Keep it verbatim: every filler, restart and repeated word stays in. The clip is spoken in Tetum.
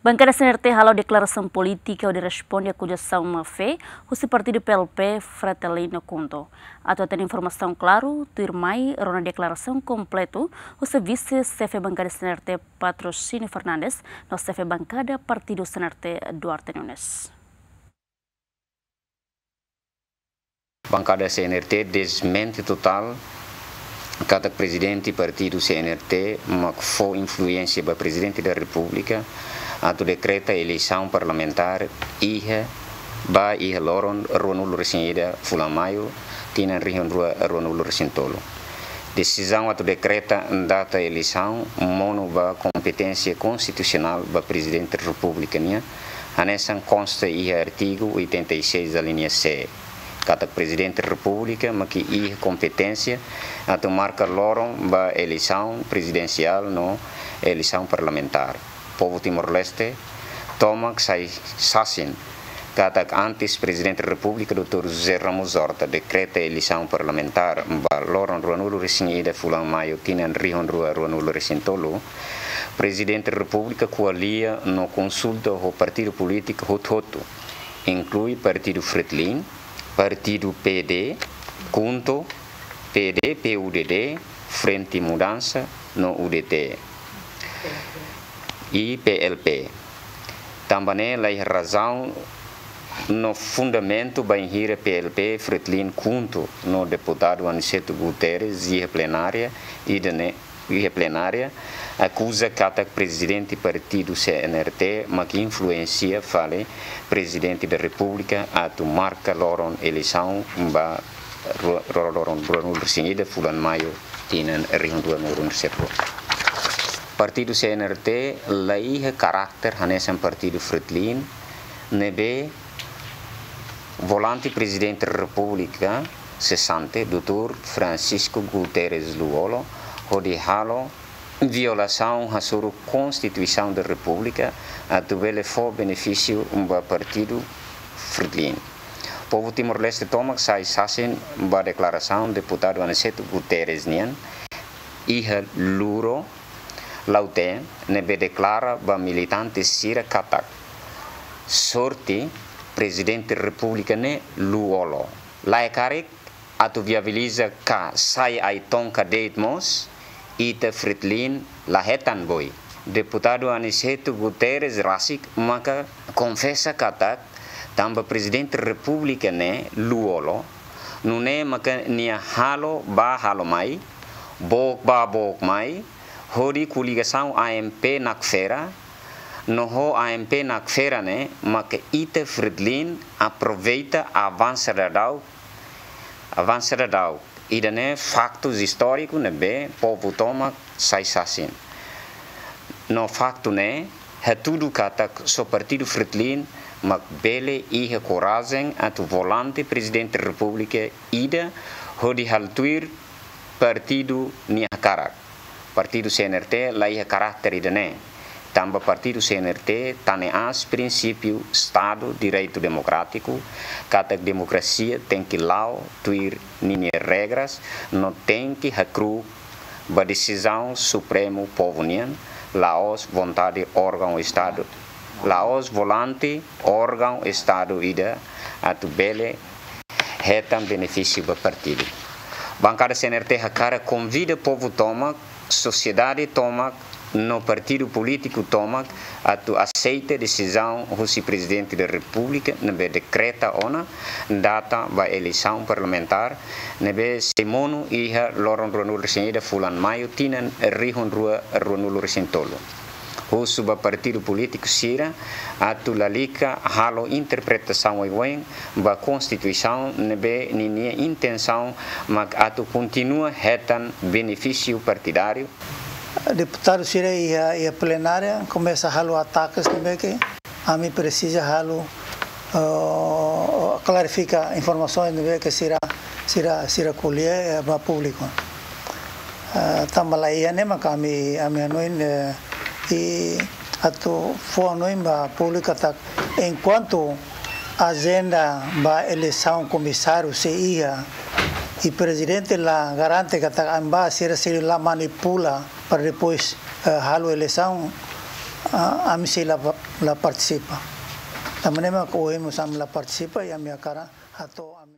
Bankada C N R T halo deklarasaun polítika hodi responde akuzasaun má-fé husi partidu P L P, Fretilin no KHUNTO. Atu hatene informasaun klaru, tuirmai rona deklarasaun kompletu husi Vise Xefe Bankada C N R T, Patrocínio Fernandes, no Xefe Bankada Partidu C N R T, Duarte Nunes. Bankada C N R T dezmente totál katak prezidente partidu C N R T mak fó influénsia ba Prezidente da Repúblika atu dekreta eleisaun parlamentár iha, ba iha loron ruanulu-resin-ida fulan Maiu, tinan rihun rua ruanulu-resin-tolu. Desizaun atu dekreta data eleisaun monu ba kompeténsia konstitusionál ba Prezidente Repúblika nian, hanesan konsta iha artigu oitenta e seis, alínea C, katak Prezidente Repúblika mak iha kompeténsia atu marka loron ba eleisaun prezidensiál no eleisaun parlamentár. Povu Timor-Leste tomak sai sasin katak antes Prezidente Repúblika, doutór José Ramos Horta, dekreta eleisaun parlamentár ba loron ruanulu-resin-ida fulan Maiu, tinan rihun rua ruanulu-resin-tolu, Prezidente Repúblika ko'alia no konsulta ho partidu polítiku hotu-hotu, inklui partidu Fretilin, partidu P D, KHUNTO, P D, P U D D, Frente Mudansa no U D T, i P L P. Tanba ne'e laiha razaun no fundamentu bainhira P L P, Fretilin, KHUNTO no deputadu Aniceto Guterres iha plenária ida-ne'e, iha plenária, akuza katak prezidente partidu C N R T mak influénsia fali Prezidente da Repúblika atu marka loron eleisaun ba ru-, ro-, loron ruanulu-resin-ida fulan Maiu, tinan rihun rua ruanulu-resin-rua. Partidu C N R T laiha karakter hanesan partidu Fretilin, ne'ebé volante Prezidente Repúblika sesante, doutór Francisco Guterres Lú-Olo, hodi halo violasaun hasoru Konstituisaun da Repúblika atu bele fó benefísiu ba partidu Fretilin. Povu Timor-Leste tomak sai sasin ba deklarasaun deputadu Aniceto Guterres nian iha Luro, Lautém, ne'ebé deklara ba militante sira katak sorte Prezidente Repúblika ne'e Lú-Olo. Lae karik atu viabiliza ka sai ai-tonka de'it mós, ita Fretilin la hetan boi. Deputadu Aniceto Guterres rasik maka konfesa katak tanba Prezidente Repúblika ne'e Lú-Olo, nune'e maka nia halo bá halo mai, book bá book mai, hodi koligasaun A M P nakfera, no ho A M P nakfera ne'e maka ita Fretilin aproveita avansa daudaun, avansa daudaun. Ida-ne'e faktus istóriku ne'ebé povu tomak sai sasin. No faktu ne'e hatudu katak só partidu Fretilin mak bele iha korajen atu volante Prezidente Repúblika ida hodi halo tuir partidu nia hakarak. Partidu C N R T laiha karakter ida-ne'e. Tanba partidu C N R T tane aas prinsípiu Estadu Direitu Demokrátiku, katak demokrasia tenke la'o tuir ninia regras, no tenke hakru'uk ba desizaun supremu povu nian, la'ós vontade órgaun Estadu, la'ós volante órgaun Estadu ida atu bele hetan benefísiu ba partidu. Bankada C N R T hakarak konvida povu tomak, sosiedade tomak, no partidu polítiku tomak atu aseita desizaun husi Prezidente da Repúblika ne'ebé dekreta ona data ba eleisaun parlamentár ne'ebé sei monu iha loron ruanulu-resin-ida fulan Maiu, tinan rihun rua ruanulu-resin-tolu. Husu ba partidu polítiku sira atu lalika halo interpretasaun oioin ba Konstituisaun ne'ebé ninia intensaun mak atu kontinua hetan benefísiu partidáriu. Deputadu sira iha, iha plenária komesa halo atakes ne'ebé ke ami presiza halo, eh, klarifika informasaun ne'ebé ke sira, sira, sira ko'alia, eh, ba públiku. Eh, tanba laiha ne'e maka ami, ami hanoin, eh, i atu fó hanoin ba públiku katak enkuantu ajenda ba eleisaun komisáriu sei iha, i prezidente la garante katak ami ba sira sei la manipula para depois, eh, halo eleisaun, ah, ami sei la, la partisipa. Tanba ne'e mak ohin mós ami la partisipa, i ami hakarak hato'o ami